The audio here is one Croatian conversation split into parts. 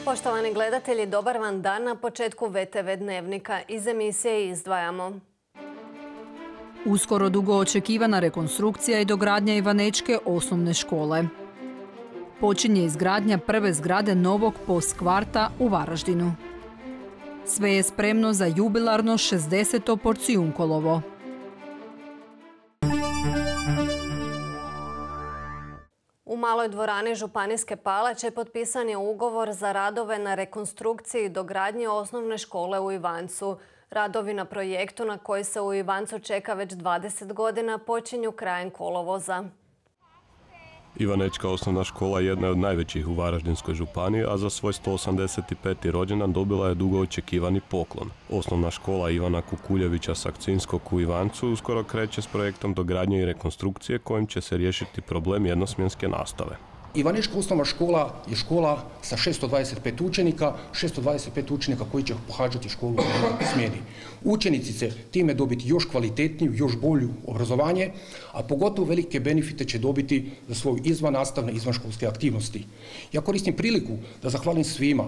Poštovani gledatelji, dobar vam dan na početku VTV Dnevnika. Iz emisije izdvajamo. Uskoro dugo očekivana rekonstrukcija i dogradnja Ivanečke osnovne škole. Počinje izgradnja prve zgrade novog postkvarta u Varaždinu. Sve je spremno za jubilarno 60. Porcijunkolovo. U maloj dvorani Županijske palače potpisan je ugovor za radove na rekonstrukciji i dogradnji osnovne škole u Ivancu. Radovi na projektu na koji se u Ivancu čeka već 20 godina počinju krajem kolovoza. Ivanečka osnovna škola jedna je od najvećih u Varaždinskoj županiji, a za svoj 185. rođendan dobila je dugo očekivani poklon. Osnovna škola Ivana Kukuljevića Sakcinskog u Ivancu uskoro kreće s projektom dogradnje i rekonstrukcije kojim će se riješiti problem jednosmjenske nastave. Ivanečka osnovna škola je škola sa 625 učenika koji će pohađati školu u smjeni. Učenici će time dobiti još kvalitetniju, još bolju obrazovanje, a pogotovo velike benefite će dobiti za svoju izvannastavne, izvanškolske aktivnosti. Ja koristim priliku da zahvalim svima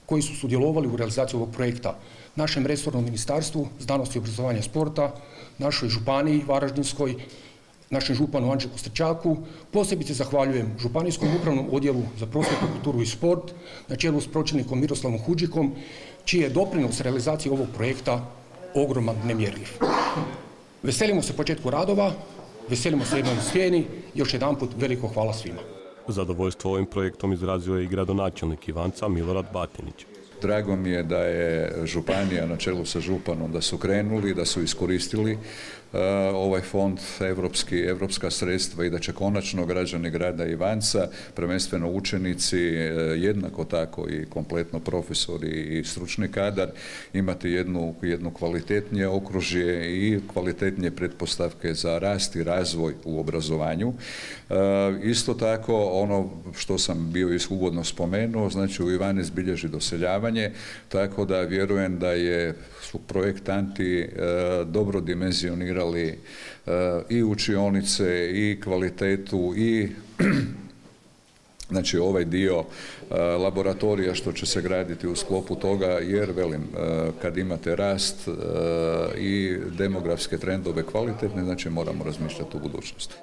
koji su sudjelovali u realizaciji ovog projekta, našem resornom ministarstvu znanosti, obrazovanja i sporta, našoj županiji Varaždinskoj, našem županu Anđelku Strčaku. Posebice zahvaljujem Županijskom upravnom odjelu za prosvjetu, kulturu i sport na čelu s pročelnikom Miroslavom Huđikom, čiji je doprinos realizaciji ovog projekta ogroman, nemjerljiv. Veselimo se početku radova, veselimo se jednoj smjeni. Još jedanput veliko hvala svima. Zadovoljstvo ovim projektom izrazio je i gradonačelnik Ivanca Milorad Batinić. Drago mi je da je županija na čelu sa županom da su krenuli, da su iskoristili ovaj fond evropska sredstva i da će konačno građani grada Ivanca, prvenstveno učenici, jednako tako i kompletno profesori i stručni kadar, imati jedno kvalitetnije okružje i kvalitetnije pretpostavke za rast i razvoj u obrazovanju. Isto tako, ono što sam bio uvodno spomenuo, znači u Ivanec bilježi doseljavanje, tako da vjerujem da su projektanti dobro dimenzionirali i učionice i kvalitetu i znači ovaj dio laboratorija što će se graditi u sklopu toga, jer velim, kad imate rast i demografske trendove kvalitetne, znači moramo razmišljati u budućnosti.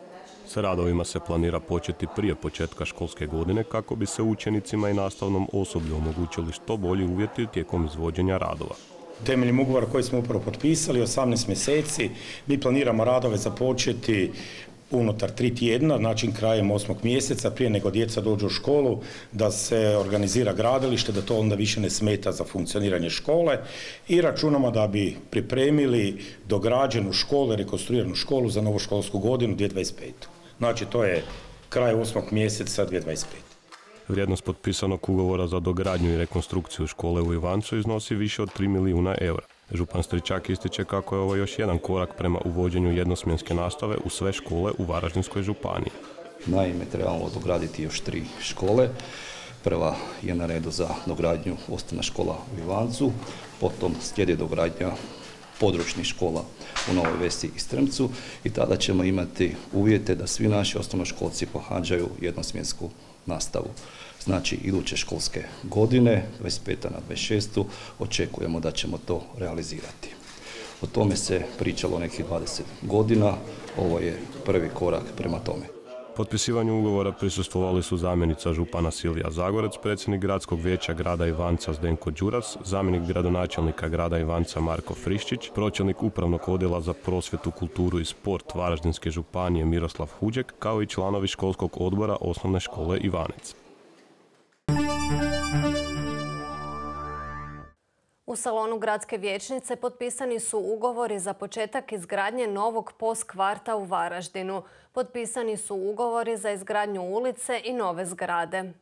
S radovima se planira početi prije početka školske godine kako bi se učenicima i nastavnom osoblju omogućili što bolji uvjeti tijekom izvođenja radova. Temeljem ugovora koji smo upravo potpisali, 18 mjeseci, mi planiramo radove započeti unutar 3 tjedna, znači krajem 8. mjeseca, prije nego djeca dođu u školu, da se organizira gradilište, da to onda više ne smeta za funkcioniranje škole i računamo da bi pripremili dograđenu školu, rekonstruiranu školu za novu školsku godinu 2025. Znači to je kraj 8. mjeseca 2025. Vrijednost potpisanog ugovora za dogradnju i rekonstrukciju škole u Ivancu iznosi više od 3 milijuna eura. Župan Stričak ističe kako je ovo još jedan korak prema uvođenju jednosmjenske nastave u sve škole u Varaždinskoj županiji. Naime, trebamo dograditi još 3 škole. Prva je na redu za dogradnju osnovna škola u Ivancu, potom slijedi dogradnja područnih škola u Novoj Vesi i Strmcu i tada ćemo imati uvjete da svi naši osnovnoškolci pohađaju jednosmjensku nastavu. Znači, iduće školske godine, 25. na 26. očekujemo da ćemo to realizirati. O tome se pričalo nekih 20 godina, ovo je prvi korak prema tome. Potpisivanju ugovora prisustvovali su zamjenica župana Silvija Zagorec, predsjednik gradskog vijeća grada Ivanca Zdenko Đuras, zamjenik gradonačelnika grada Ivanca Marko Friščić, pročelnik upravnog odjela za prosvjetu, kulturu i sport Varaždinske županije Miroslav Huđek, kao i članovi školskog odbora osnovne škole Ivanec. U salonu gradske vijećnice potpisani su ugovori za početak izgradnje novog postkvarta u Varaždinu. Potpisani su ugovori za izgradnju ulice i nove zgrade.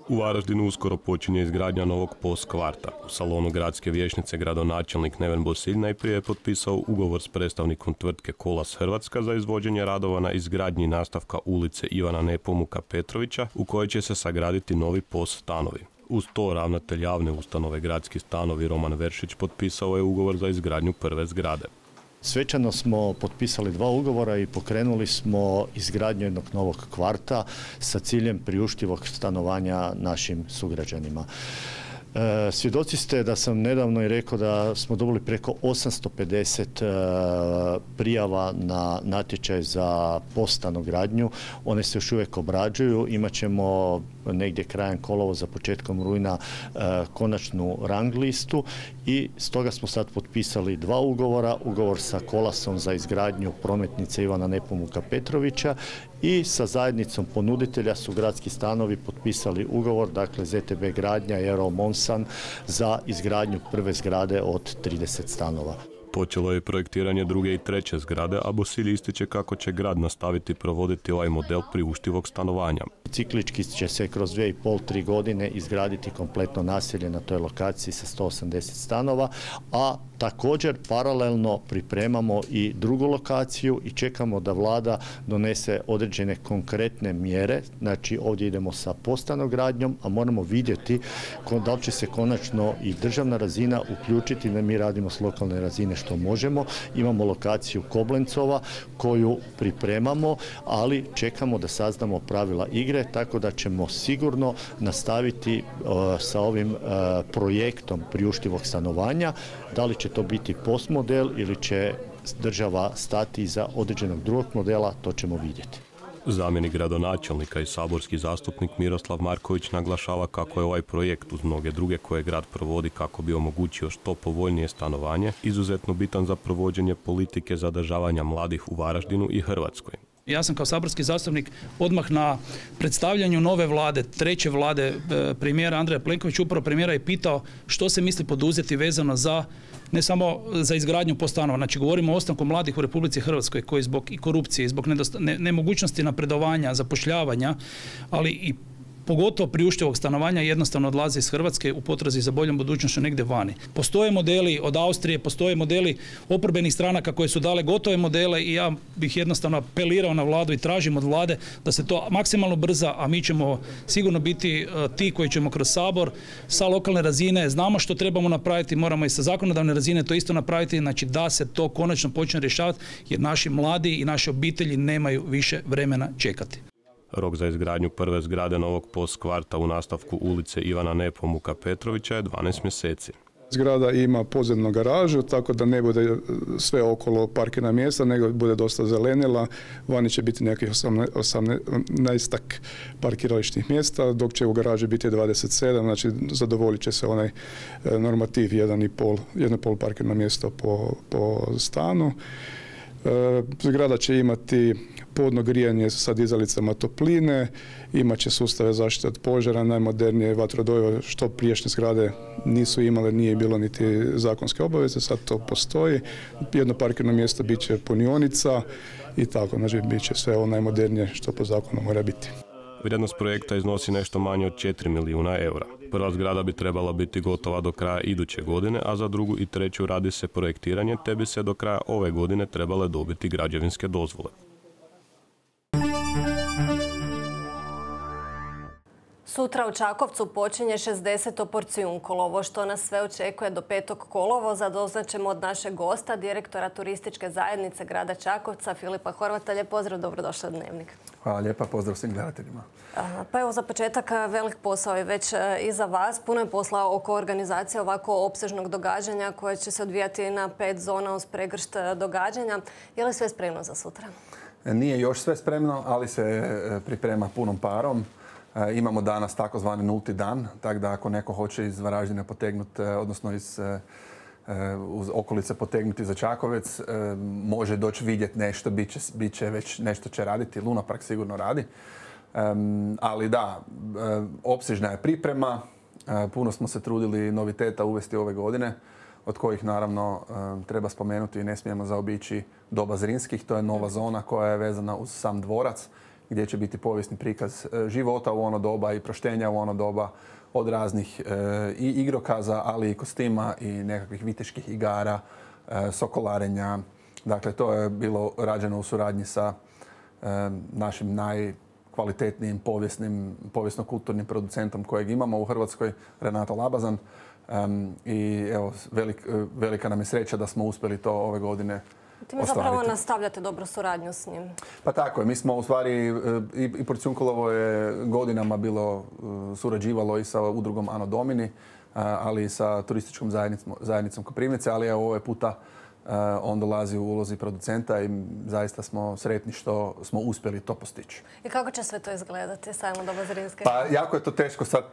U Varaždinu uskoro počinje izgradnja novog postkvarta. U salonu gradske vijećnice gradonačelnik Neven Bosilj najprije je potpisao ugovor s predstavnikom tvrtke Kolas Hrvatska za izvođenje radova na izgradnji nastavka ulice Ivana Nepomuka Petrovića u kojoj će se sagraditi novi POS stanovi. Uz to ravnatelj javne ustanove Gradski stanovi Roman Veršić potpisao je ugovor za izgradnju prve zgrade. Svečano smo potpisali 2 ugovora i pokrenuli smo izgradnju jednog novog kvarta sa ciljem priuštivog stanovanja našim sugrađanima. Svjedoci ste da sam nedavno i rekao da smo dobili preko 850 prijava na natječaj za stanogradnju. One se još uvijek obrađuju. Imat ćemo negdje krajem kolovoza, početkom rujna konačnu rang listu i stoga smo sad potpisali 2 ugovora. Ugovor sa Kolasom za izgradnju prometnice Ivana Nepomuka Petrovića i sa zajednicom ponuditelja su Gradski stanovi potpisali ugovor, dakle ZTB Gradnja i Aero Monsan za izgradnju prve zgrade od 30 stanova. Počelo je projektiranje druge i treće zgrade, a Bosilj ističe kako će grad nastaviti provoditi ovaj model priuštivog stanovanja. Ciklički će se kroz 2,5-3 godine izgraditi kompletno naselje na toj lokaciji sa 180 stanova, a također paralelno pripremamo i drugu lokaciju i čekamo da vlada donese određene konkretne mjere. Znači ovdje idemo sa postanogradnjom, a moramo vidjeti da li će se konačno i državna razina uključiti, da mi radimo s lokalne razine što možemo. Imamo lokaciju Koblencova koju pripremamo, ali čekamo da saznamo pravila igre, tako da ćemo sigurno nastaviti sa ovim projektom priuštivog stanovanja. Da li će to biti POS model ili će država stati iza određenog drugog modela, to ćemo vidjeti. Zamjenik gradonačelnika i saborski zastupnik Miroslav Marković naglašava kako je ovaj projekt uz mnoge druge koje grad provodi kako bi omogućio što povoljnije stanovanje izuzetno bitan za provođenje politike zadržavanja mladih u Varaždinu i Hrvatskoj. Ja sam kao saborski zastupnik odmah na predstavljanju nove vlade, treće vlade premijera Andreja Plenkovića, upravo premijera je pitao što se misli poduzeti vezano za ne samo za izgradnju stanova. Znači govorimo o ostanku mladih u Republici Hrvatskoj koji zbog i korupcije, zbog nemogućnosti napredovanja, zapošljavanja, ali i pogotovo priuštivog stanovanja jednostavno odlaze iz Hrvatske u potrazi za boljom budućnošću negdje vani. Postoje modeli od Austrije, postoje modeli oporbenih stranaka koje su dale gotove modele i ja bih jednostavno apelirao na vladu i tražim od vlade da se to maksimalno brza, a mi ćemo sigurno biti ti koji ćemo kroz Sabor sa lokalne razine, znamo što trebamo napraviti, moramo i sa zakonodavne razine to isto napraviti, znači da se to konačno počne rješavati jer naši mladi i naše obitelji nemaju više vremena čekati. Rok za izgradnju prve zgrade novog POS kvarta u nastavku ulice Ivana Nepomuka Petrovića je 12 mjeseci. Zgrada ima podzemnu garažu, tako da ne bude sve okolo parkirna mjesta, nego bude dosta zelenila. Vani će biti nekih 18 parkirališnih mjesta, dok će u garaži biti 27, znači zadovoljit će se onaj normativ 1,5 parkirno mjesto po stanu. Zgrada će imati podno grijanje sa dizalicama topline, imat će sustave zaštite od požara, najmodernije vatrodoje što prijašnje zgrade nisu imale, nije bilo niti zakonske obaveze, sad to postoji. Jedno parkirno mjesto bit će punionica i tako, znači bit će sve ovo najmodernije što po zakonu mora biti. Vrijednost projekta iznosi nešto manje od 4 milijuna eura. Prva zgrada bi trebala biti gotova do kraja iduće godine, a za drugu i treću radi se projektiranje, te bi se do kraja ove godine trebale dobiti građevinske dozvole. Sutra u Čakovcu počinje 60. porcijunkolovo, što nas sve očekuje do 5. kolovoza. Doznaćemo od našeg gosta, direktora turističke zajednice grada Čakovca, Filipa Horvata. Lijep pozdrav, dobrodošli u Dnevnik. Hvala lijepa, pozdrav svim gledateljima. Pa evo za početak velik posao je već iza vas. Puno je posla oko organizacije ovako opsežnog događanja koje će se odvijati na 5 zona uz pregršt događanja. Je li sve spremno za sutra? Nije još sve spremno, ali se priprema punom parom. Imamo danas takozvani nulti dan, tako da ako neko hoće iz Varaždina potegnuti, odnosno iz okolice potegnuti za Čakovec, može doći vidjeti nešto, bit će već nešto će raditi, Luna Park sigurno radi. Ali da, opsežna je priprema, puno smo se trudili noviteta uvesti ove godine, od kojih naravno treba spomenuti i ne smijemo zaobići Doba Zrinskih, to je nova zona koja je vezana uz sam dvorac, gdje će biti povijesni prikaz života u ono doba i proštenja u ono doba od raznih i igrokaza, ali i kostima i nekakvih viteških igara, sokolarenja. Dakle, to je bilo rađeno u suradnji sa našim najkvalitetnijim povijesno-kulturnim producentom kojeg imamo u Hrvatskoj, Renato Labazan. I evo, velika nam je sreća da smo uspjeli to ove godine Time zapravo nastavljate dobru suradnju s njim. Pa tako je. Mi smo u stvari, i Porciunkolovo je godinama bilo surađivalo i sa udrugom Anno Domini, ali i sa turističkom zajednicom Koprivnice, ali evo ovaj puta on dolazi u ulozi producenta i zaista smo sretni što smo uspjeli to postići. I kako će sve to izgledati, sajmo Doba Zrinske? Pa jako je to teško sad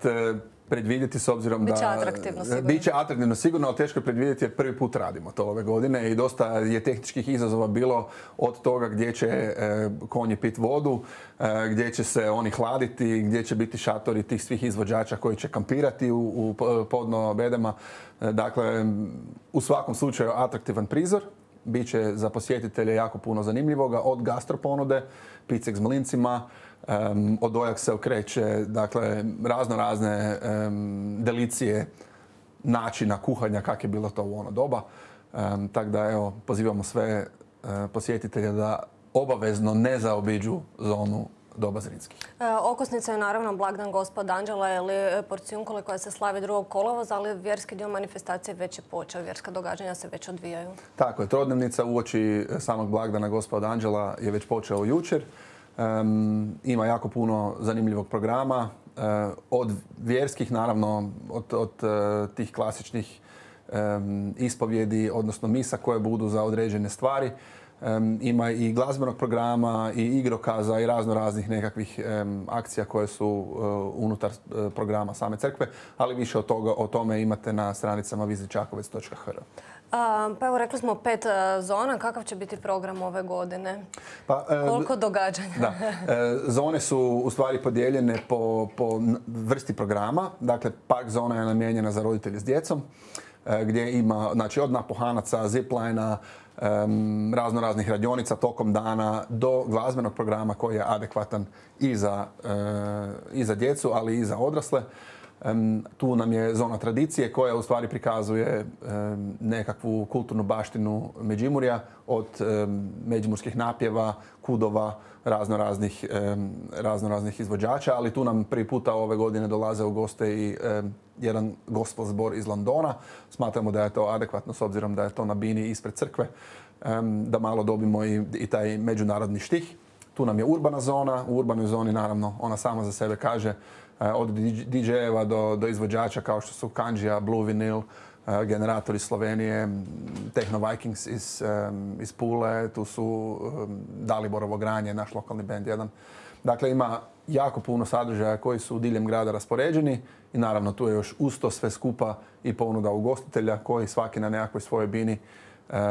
predvidjeti s obzirom da... Biće atraktivno sigurno. Biće atraktivno sigurno, ali teško je predvidjeti jer prvi put radimo to ove godine i dosta je tehničkih izazova bilo od toga gdje će konji pit vodu, gdje će se oni hladiti, gdje će biti šatori tih svih izvođača koji će kampirati u podno bedema. Dakle, u svakom slučaju atraktivan prizor. Biće za posjetitelje jako puno zanimljivoga, od gastroponude, picek s mlincima, od ojak se okreće, dakle, razne delicije načina kuhanja kak je bilo to u ono doba. Tako da, evo, pozivamo sve posjetitelje da obavezno ne zaobiđu zonu Doba Zrinskih. Okosnica je naravno blagdan Gospod Anđela ili Porciunkole koja se slavi 2. kolovoza, ali vjerski dio manifestacije već je počeo. Vjerska događanja se već odvijaju. Tako je. Trodnevnica uoči samog blagdana Gospod Anđela je već počeo jučer. Ima jako puno zanimljivog programa. Od vjerskih, naravno, od tih klasičnih ispovjedi, odnosno misa koje budu za određene stvari. Ima i glazbenog programa i igrokaza i raznih nekakvih akcija koje su unutar programa same crkve, ali više o tome imate na stranicama vizitčakovec.hr. Pa evo, rekli smo 5 zona. Kakav će biti program ove godine? Koliko događanja? Da. Zone su u stvari podijeljene po vrsti programa. Dakle, park zona je namijenjena za roditelje s djecom, gdje ima, znači, od napuhanaca, ziplina, raznih radionica tokom dana do glazbenog programa koji je adekvatan i za djecu, ali i za odrasle. Tu nam je zona tradicije koja u stvari prikazuje nekakvu kulturnu baštinu Međimurja, od međimurskih napjeva, kudova, raznoraznih izvođača, ali tu nam prvi puta ove godine dolaze u goste i jedan gospel zbor iz Londona. Smatramo da je to adekvatno s obzirom da je to na bini ispred crkve, da malo dobimo i taj međunarodni štih. Tu nam je urbana zona. U urbanoj zoni, naravno, ona sama za sebe kaže, od DJ-eva do izvođača kao što su Kanđija, Blue Vinyl, Generator iz Slovenije, Techno Vikings iz Pule, tu su Daliborovo granje, naš lokalni band jedan. Dakle, ima jako puno sadržaja koji su diljem grada raspoređeni i naravno tu je još uz to sve skupa i ponuda ugostitelja koji svaki na nekakvoj svojoj bini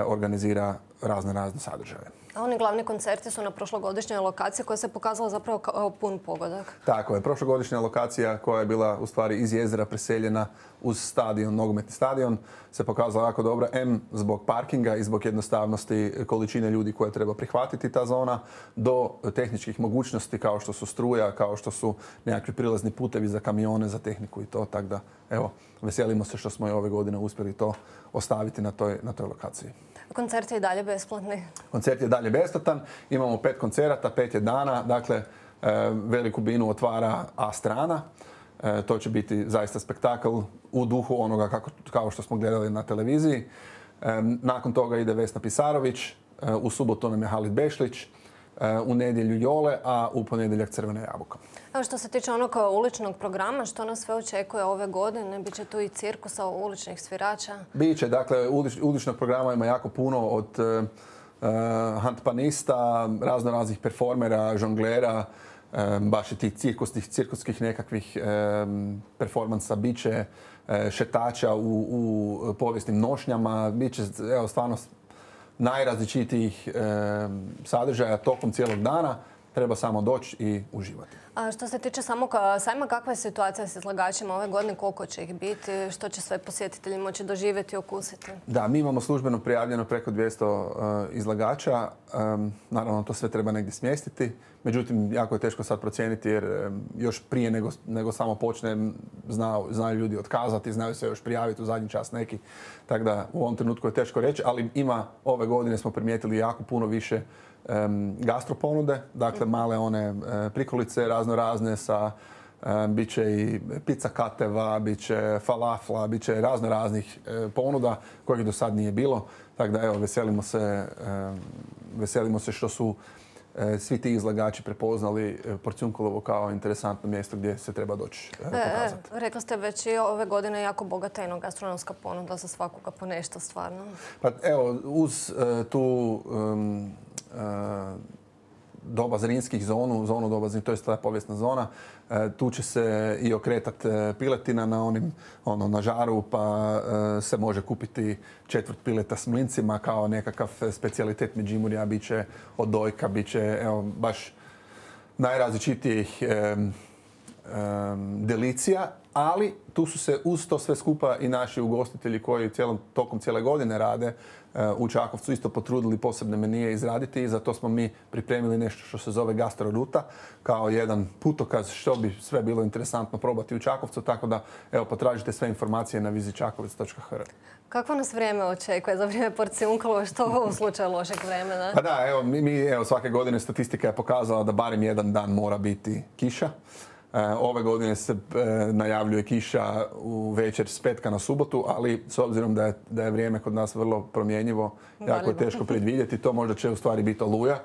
organizira razne sadržaje. A oni glavni koncerti su na prošlogodišnjoj lokaciji koja se pokazala zapravo kao pun pogodak. Tako je. Prošlogodišnja lokacija koja je bila u stvari iz jezera preseljena uz stadion, nogometni stadion, se pokazala jako dobro. Zbog parkinga i zbog jednostavnosti količine ljudi koje treba prihvatiti ta zona, do tehničkih mogućnosti kao što su struja, kao što su nekakvi prilazni putevi za kamione, za tehniku i to. Tako da, evo, veselimo se što smo i ove godine uspjeli to ostaviti na toj lokaciji. Koncert je i dalje besplatni? Koncert je dalje besplatan. Imamo 5 koncerata, 5 je dana. Dakle, veliku binu otvara A strana. To će biti zaista spektakl u duhu onoga kao što smo gledali na televiziji. Nakon toga ide Vesna Pisarović. U subotu nam je Halid Bešlić. U nedjelju Jole, a u ponedjeljak Crvena jabuka. Evo, što se tiče onog uličnog programa, što nas sve očekuje ove godine? Biće tu i cirkusa uličnih svirača? Biće, dakle, uličnog programa ima jako puno, od handpanista, raznih performera, žonglera, baš i tih cirkuskih nekakvih performansa, biće šetača u povijesnim nošnjama, biće, evo, stvarno najrazličitijih sadržaja tokom cijelog dana. Treba samo doći i uživati. A što se tiče samog sajma, kakva je situacija s izlagačima ove godine? Koliko će ih biti? Što će sve posjetitelji moći doživjeti i okusiti? Da, mi imamo službeno prijavljeno preko 200 izlagača. Naravno, to sve treba negdje smjestiti. Međutim, jako je teško sad procijeniti jer još prije nego samo počne znaju ljudi otkazati, znaju se još prijaviti u zadnji čas neki. Tako da u ovom trenutku je teško reći, ali ove godine smo primijetili jako puno više gastroponude, dakle male one prikolice razne sa bit će i pizza kateva, bit će falafla, bit će raznih ponuda kojih do sad nije bilo. Tako da evo, veselimo se što su svi ti izlagači prepoznali Porciunkulovo kao interesantno mjesto gdje se treba doći pokazati. Rekli ste već i ove godine jako bogata enogastronomska ponuda za svakoga po nešto stvarno. Pa evo, uz tu doba Zrinskih zonu doba Zrinskih, to je ta povijesna zona, tu će se i okretati piletina na žaru, pa se može kupiti četvrt pileta s mlincima kao nekakav specijalitet Međimurja, bit će od dojka, bit će baš najrazličitijih delicija, ali tu su se uz to sve skupa i naši ugostitelji koji tokom cijele godine rade u Čakovcu isto potrudili posebne menije izraditi i zato smo mi pripremili nešto što se zove gastroruta kao jedan putokaz što bi sve bilo interesantno probati u Čakovcu, tako da evo potražite sve informacije na vizitčakovec.hr. Kakvo nas vrijeme očekuje za vrijeme Porciunkulova, što u slučaju lošeg vremena? Pa da, evo svake godine statistika je pokazala da barem jedan dan mora biti kiša. Ove godine se najavljuje kiša u večer s petka na subotu, ali s obzirom da je vrijeme kod nas vrlo promjenjivo, jako je teško predvidjeti. To možda će u stvari biti oluja,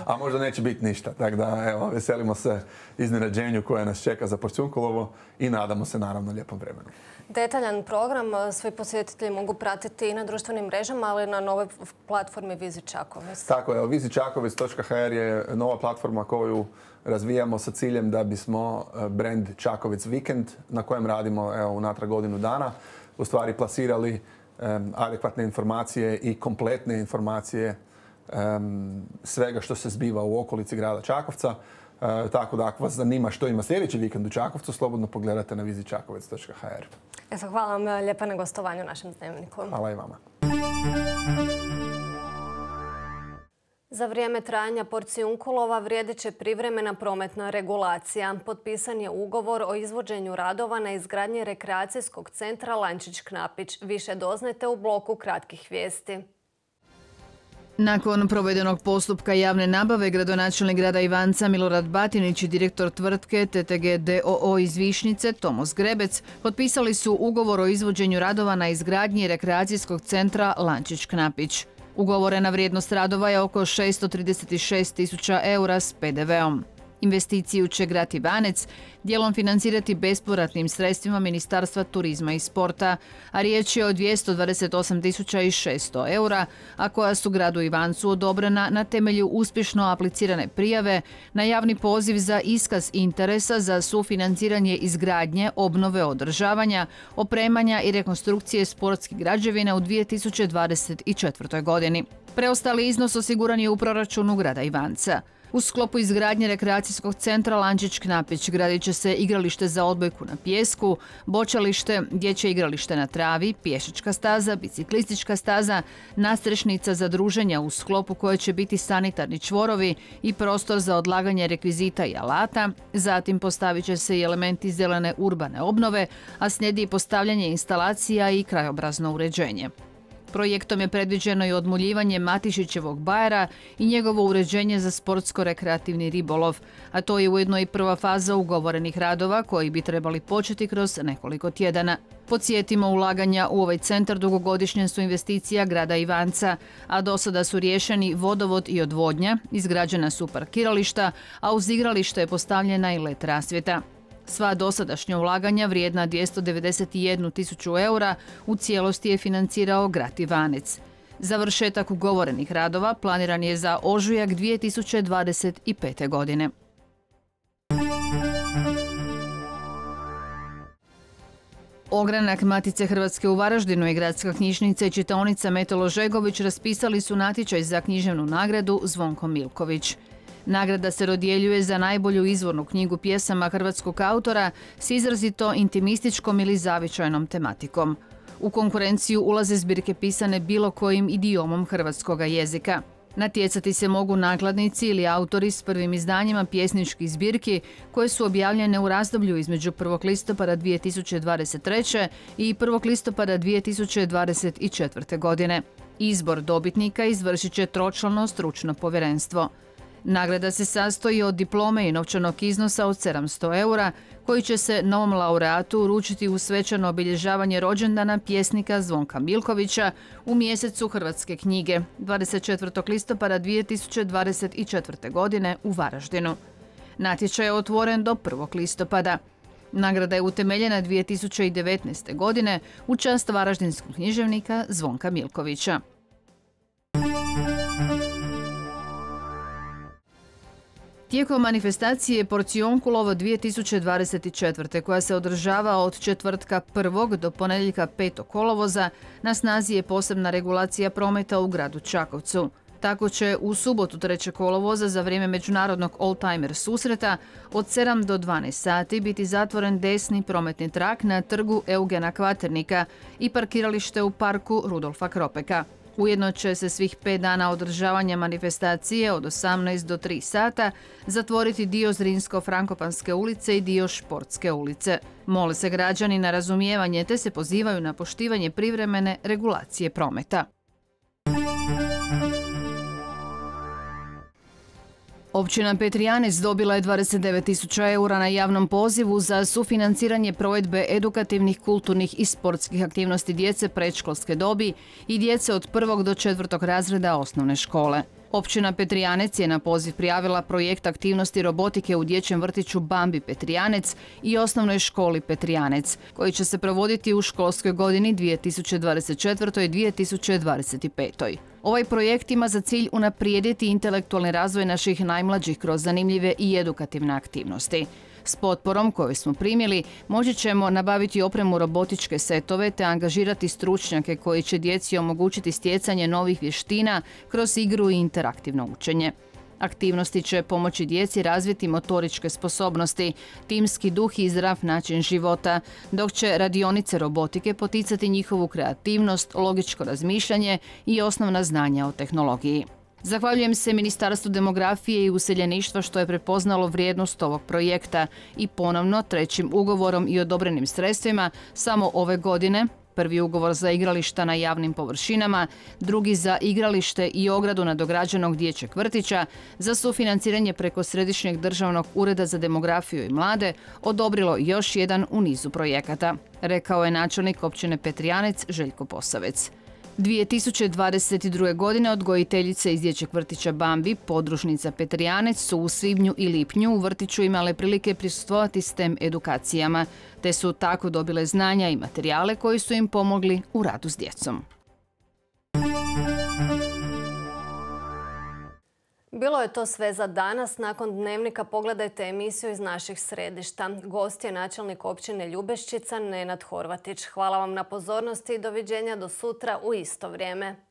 a možda neće biti ništa. Tako da, evo, veselimo se iznenađenju koje nas čeka za Porciunkulovo i nadamo se naravno lijepom vremenu. Detaljan program svi posjetitelji mogu pratiti i na društvenim mrežama, ali na novoj platformi Vizit Čakovec. Tako je, vizitčakovec.hr je nova platforma koju razvijamo sa ciljem da bismo brand Čakovec Vikend, na kojem radimo unatrag godinu dana, u stvari plasirali adekvatne informacije i kompletne informacije svega što se zbiva u okolici grada Čakovca. Tako da ako vas zanima što ima sljedeći vikend u Čakovcu, slobodno pogledate na vizitčakovec.hr. Hvala vam lijepa na gostovanju u našem dnevniku. Hvala i vama. Za vrijeme trajanja Porciunkulova vrijedit će privremena prometna regulacija. Potpisan je ugovor o izvođenju radova na izgradnji rekreacijskog centra Lančić-Knapić. Više doznajte u bloku kratkih vijesti. Nakon provedenog postupka javne nabave, gradonačelnik grada Ivanca Milorad Batinić i direktor tvrtke TTG d.o.o. iz Višnjice Tomos Grebec potpisali su ugovor o izvođenju radova na izgradnji rekreacijskog centra Lančić-Knapić. Ugovorena vrijednost radova je oko 636.000 eura s PDV-om. Investiciju će grad Ivanec dijelom financirati bespovratnim sredstvima Ministarstva turizma i sporta, a riječ je o 228.600 eura, a koja su gradu Ivancu odobrena na temelju uspješno aplicirane prijave na javni poziv za iskaz interesa za sufinanciranje izgradnje, obnove, održavanja, opremanja i rekonstrukcije sportskih građevina u 2024. godini. Preostali iznos osiguran je u proračunu grada Ivanca. U sklopu izgradnje rekreacijskog centra Lančić-Knapić gradit će se igralište za odbojku na pijesku, bočalište, dječje igralište na travi, pješačka staza, biciklistička staza, nastrešnica za druženja u sklopu koje će biti sanitarni čvorovi i prostor za odlaganje rekvizita i alata. Zatim postavit će se i elementi zelene urbane obnove, a slijedi postavljanje instalacija i krajobrazno uređenje. Projektom je predviđeno i odmuljivanje Matišićevog bajera i njegovo uređenje za sportsko-rekreativni ribolov, a to je ujedno i prva faza ugovorenih radova koji bi trebali početi kroz nekoliko tjedana. Podsjetimo, ulaganja u ovaj centar dugogodišnja su investicija grada Ivanca, a do sada su riješeni vodovod i odvodnja, izgrađena su parkirališta, a uz igralište je postavljena i LED rasvjeta. Sva dosadašnja ulaganja vrijedna 291.000 eura u cijelosti je financirao grad Ivanec. Završetak ugovorenih radova planiran je za ožujak 2025. godine. Ogranak Matice Hrvatske u Varaždinu i Gradska knjižnica i čitaonica Metalo Žegović raspisali su natječaj za književnu nagradu Zvonko Milković. Nagrada se dodjeljuje za najbolju izvornu knjigu pjesama hrvatskog autora s izrazito intimističkom ili zavičajnom tematikom. U konkurenciju ulaze zbirke pisane bilo kojim idiomom hrvatskog jezika. Natjecati se mogu nakladnici ili autori s prvim izdanjima pjesničkih zbirki koje su objavljene u razdoblju između 1. listopada 2023. i 1. listopada 2024. godine. Izbor dobitnika izvršit će tročlano stručno povjerenstvo. Nagrada se sastoji od diplome i novčanog iznosa od 700 eura, koji će se novom laureatu uručiti u svečano obilježavanje rođendana pjesnika Zvonka Milkovića u mjesecu hrvatske knjige 24. listopada 2024. godine u Varaždinu. Natječaj je otvoren do 1. listopada. Nagrada je utemeljena 2019. godine u čast varaždinskog književnika Zvonka Milkovića. Tijekom manifestacije Porcionkulovo 2024. koja se održava od četvrtka 1. do ponedjeljka 5. kolovoza, na snazi je posebna regulacija prometa u gradu Čakovcu. Tako će u subotu 3. kolovoza za vrijeme međunarodnog oldtimer susreta od 7 do 12 sati biti zatvoren desni prometni trak na trgu Eugena Kvaternika i parkiralište u parku Rudolfa Kropeka. Ujedno će se svih 5 dana održavanja manifestacije od 18 do 3 sata zatvoriti dio Zrinsko-Frankopanske ulice i dio Športske ulice. Mole se građani na razumijevanje te se pozivaju na poštivanje privremene regulacije prometa. Općina Petrijanec dobila je 29.000 eura na javnom pozivu za sufinanciranje provedbe edukativnih, kulturnih i sportskih aktivnosti djece predškolske dobi i djece od 1. do 4. razreda osnovne škole. Općina Petrijanec je na poziv prijavila projekt aktivnosti robotike u dječjem vrtiću Bambi Petrijanec i osnovnoj školi Petrijanec, koji će se provoditi u školskoj godini 2024. i 2025. Ovaj projekt ima za cilj unaprijediti intelektualni razvoj naših najmlađih kroz zanimljive i edukativne aktivnosti. S potporom koju smo primili moći ćemo nabaviti opremu robotičke setove te angažirati stručnjake koji će djeci omogućiti stjecanje novih vještina kroz igru i interaktivno učenje. Aktivnosti će pomoći djeci razviti motoričke sposobnosti, timski duh i zdrav način života, dok će radionice robotike poticati njihovu kreativnost, logičko razmišljanje i osnovna znanja o tehnologiji. Zahvaljujem se Ministarstvu demografije i useljeništva što je prepoznalo vrijednost ovog projekta i ponovno 3. ugovorom i odobrenim sredstvima samo ove godine, prvi ugovor za igrališta na javnim površinama, drugi za igralište i ogradu nadograđenog dječjeg vrtića, za sufinanciranje preko Središnjeg državnog ureda za demografiju i mlade, odobrilo još jedan u nizu projekata, rekao je načelnik općine Petrijanec Željko Posavec. 2022. godine odgojiteljice iz dječjeg vrtića Bambi, podružnica Petrijanec, su u svibnju i lipnju u vrtiću imale prilike prisustvovati STEM edukacijama, te su tako dobile znanja i materijale koji su im pomogli u radu s djecom. Bilo je to sve za danas. Nakon Dnevnika pogledajte emisiju iz naših središta. Gost je načelnik općine Ljubeščica Nenad Horvatić. Hvala vam na pozornosti i doviđenja do sutra u isto vrijeme.